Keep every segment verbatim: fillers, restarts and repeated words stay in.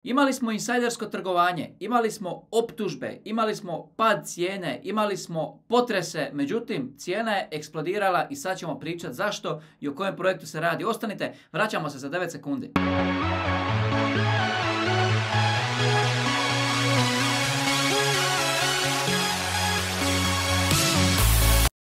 Imali smo insajdersko trgovanje, imali smo optužbe, imali smo pad cijene, imali smo potrese, međutim cijena je eksplodirala i sad ćemo pričati zašto i o kojem projektu se radi. Ostanite, vraćamo se za devet sekundi.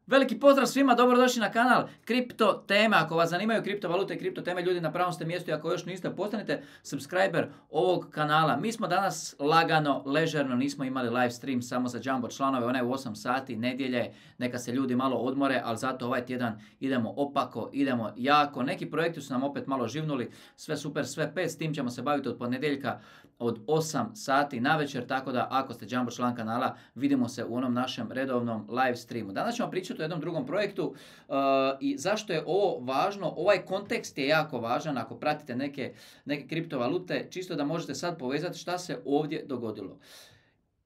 Veliki pozdrav svima, dobrodošli na kanal Kripto teme. Ako vas zanimaju kriptovalute i kripto teme, ljudi, na pravom ste mjestu i ako još niste, postanite subscriber ovog kanala. Mi smo danas lagano, ležerno, nismo imali live stream samo za Jumbo članove, ona je u osam sati, nedjelje, neka se ljudi malo odmore, ali zato ovaj tjedan idemo opako, idemo jako. Neki projekti su nam opet malo živnuli, sve super, sve pet, s tim ćemo se baviti od ponedjeljka od osam sati na večer, tako da ako ste Jumbo član kanala, vidimo se u onom našem redovnom live streamu. Danas ćemo pričati o jednom drugom projektu uh, i zašto je ovo važno. Ovaj kontekst je jako važan ako pratite neke, neke kriptovalute, čisto da možete sad povezati šta se ovdje dogodilo.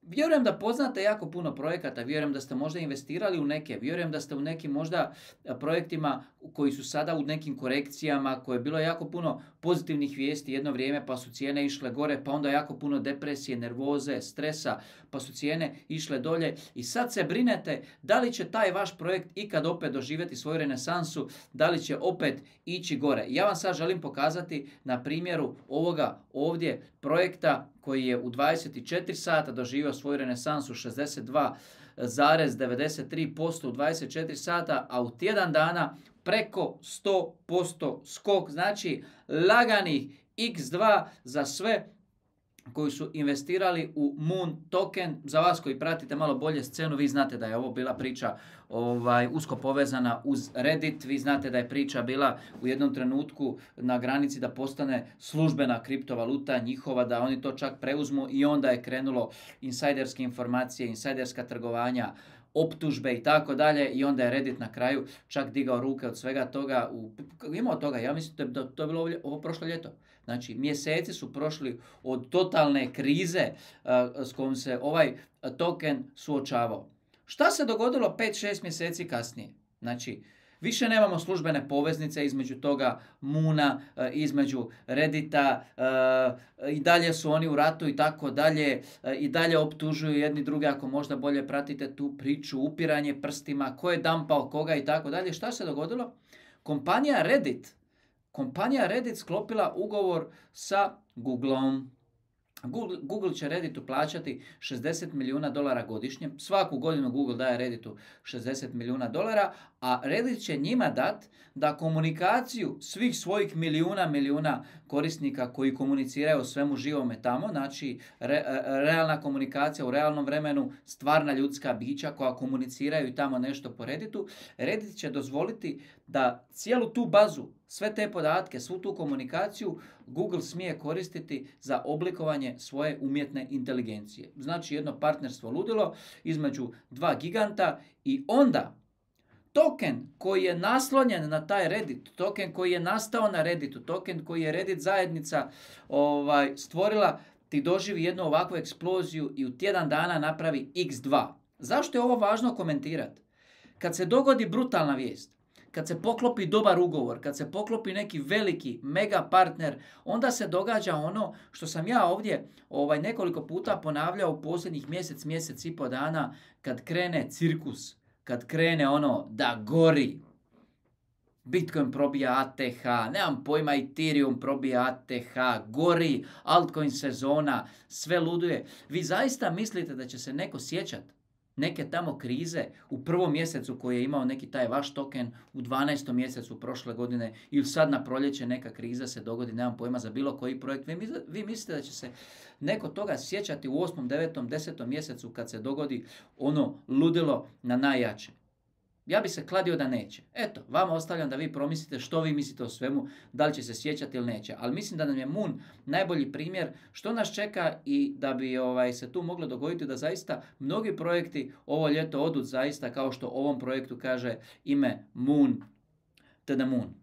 Vjerujem da poznate jako puno projekata, vjerujem da ste možda investirali u neke, vjerujem da ste u nekim možda projektima koji su sada u nekim korekcijama, koje je bilo jako puno pozitivnih vijesti jedno vrijeme, pa su cijene išle gore, pa onda jako puno depresije, nervoze, stresa, pa su cijene išle dolje i sad se brinete da li će taj vaš projekt ikad opet doživjeti svoju renesansu, da li će opet ići gore. Ja vam sad želim pokazati na primjeru ovoga ovdje projekta koji je u dvadeset četiri sata doživio svoju renesansu šezdeset dva zarez devedeset tri posto u dvadeset četiri sata, a u tjedan dana preko sto posto skok, znači laganih iks dva za sve koji su investirali u Moon token. Za vas koji pratite malo bolje scenu, vi znate da je ovo bila priča ovaj, usko povezana uz Reddit. Vi znate da je priča bila u jednom trenutku na granici da postane službena kriptovaluta njihova, da oni to čak preuzmu i onda je krenulo insajderske informacije, insajderska trgovanja, optužbe i tako dalje i onda je Reddit na kraju čak digao ruke od svega toga. U, imao toga, ja mislim da to je bilo ovo, ovo prošlo ljeto. Znači, mjeseci su prošli od totalne krize uh, s kojom se ovaj token suočavao. Šta se dogodilo pet šest mjeseci kasnije? Znači, više nemamo službene poveznice između toga Moona, između Reddita, i dalje su oni u ratu i tako dalje, i dalje optužuju jedni druge, ako možda bolje pratite tu priču, upiranje prstima, ko je dampao koga i tako dalje. Šta se dogodilo? Kompanija Reddit, kompanija Reddit sklopila ugovor sa Googleom. Google, Google će Redditu plaćati šezdeset milijuna dolara godišnje. Svaku godinu Google daje Redditu šezdeset milijuna dolara, a Reddit će njima dat da komunikaciju svih svojih milijuna, milijuna korisnika koji komuniciraju o svemu živome tamo, znači re, realna komunikacija u realnom vremenu, stvarna ljudska bića koja komuniciraju i tamo nešto po Redditu, Reddit će dozvoliti da cijelu tu bazu, sve te podatke, svu tu komunikaciju Google smije koristiti za oblikovanje svoje umjetne inteligencije. Znači jedno partnerstvo ludilo između dva giganta i onda token koji je naslonjen na taj Reddit, token koji je nastao na Redditu, token koji je Reddit zajednica ovaj, stvorila, ti doživi jednu ovakvu eksploziju i u tjedan dana napravi iks dva. Zašto je ovo važno komentirati? Kad se dogodi brutalna vijest, kad se poklopi dobar ugovor, kad se poklopi neki veliki mega partner, onda se događa ono što sam ja ovdje ovaj, nekoliko puta ponavljao u posljednjih mjesec, mjesec i po dana, kad krene cirkus, kad krene ono da gori. Bitcoin probija A T H, nemam pojma, Ethereum probija A T H, gori, altcoin sezona, sve luduje. Vi zaista mislite da će se neko sjećati neke tamo krize u prvom mjesecu koji je imao neki taj vaš token, u dvanaestom mjesecu prošle godine ili sad na proljeće neka kriza se dogodi, nemam pojma, za bilo koji projekt. Vi mislite, vi mislite da će se neko toga sjećati u osmom, devetom, desetom mjesecu kad se dogodi ono ludilo na najjače? Ja bi se kladio da neće. Eto, vama ostavljam da vi promislite što vi mislite o svemu, da li će se sjećati ili neće. Ali mislim da nam je Moon najbolji primjer što nas čeka i da bi ovaj, se tu moglo dogoditi da zaista mnogi projekti ovo ljeto odu zaista kao što ovom projektu kaže ime Moon to the Moon.